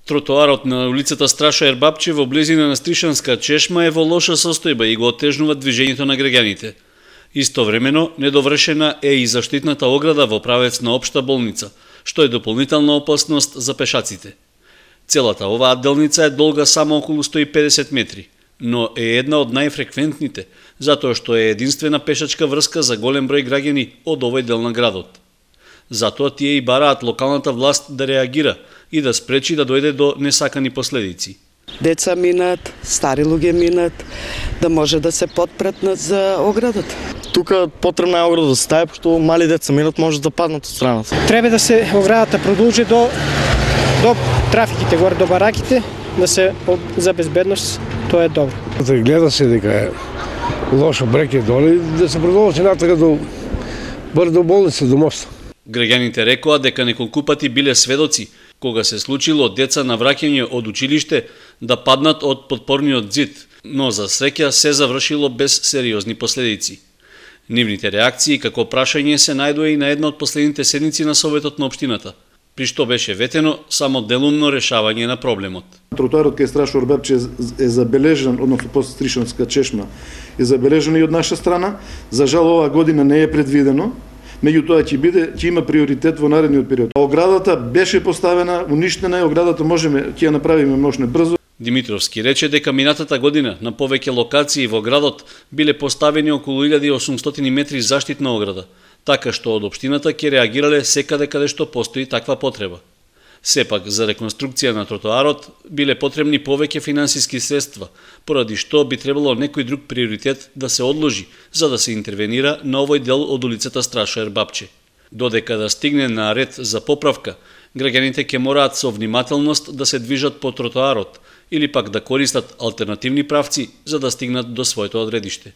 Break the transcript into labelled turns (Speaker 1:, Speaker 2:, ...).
Speaker 1: Тротоарот на улицата Страшо Ербапче во близина на Стришанска чешма е во лоша состојба и го отежнува движењето на граѓаните. Истовремено, недовршена е и заштитната ограда во правец на општа болница, што е дополнителна опасност за пешаците. Целата оваа делница е долга само околу 150 метри, но е една од најфреквентните, затоа што е единствена пешачка врска за голем број граѓани од овој дел на градот. Затоа тие и бараат локалната власт да реагира и да спречи да дојде до несакани последици.
Speaker 2: Деца минат, стари луѓе минат, да може да се подпретнат за оградот.
Speaker 3: Тука потребна е ограда да се стави, пошто мали деца минат може да паднат од страната.
Speaker 4: Треба да се оградата продолжи до трафиките горе до бараките, да се за безбедност, тоа е добро.
Speaker 5: Гледа се дека е лошо бреке доле, да се продолжи натака до болница, до моста.
Speaker 1: Граѓаните рекоа дека неколку пати биле сведоци кога се случило деца на враќање од училиште да паднат од подпорниот зид, но за среќа се завршило без сериозни последици. Нивните реакции како прашање се најдоа и на една од последните седници на Советот на општината, при што беше ветено само делумно решавање на проблемот.
Speaker 6: Тротоарот кај Страшо Ербапче е забележан, односно после Стришанска чешма, е забележан и од наша страна. За жал оваа година не е предвидено, меѓутоа ќе има приоритет во наредниот период. Оградата беше поставена, уништена е, оградата ќе ја направиме можно брзо.
Speaker 1: Димитровски рече дека минатата година на повеќе локации во градот биле поставени околу 1800 метри заштитна ограда, така што од општината ќе реагирале секаде каде што постои таква потреба. Сепак, за реконструкција на тротоарот биле потребни повеќе финансиски средства, поради што би требало некој друг приоритет да се одложи за да се интервенира на овој дел од улицата Страшо Ербапче. Додека да стигне на ред за поправка, граѓаните ќе мораат со внимателност да се движат по тротоарот или пак да користат алтернативни правци за да стигнат до своето одредиште.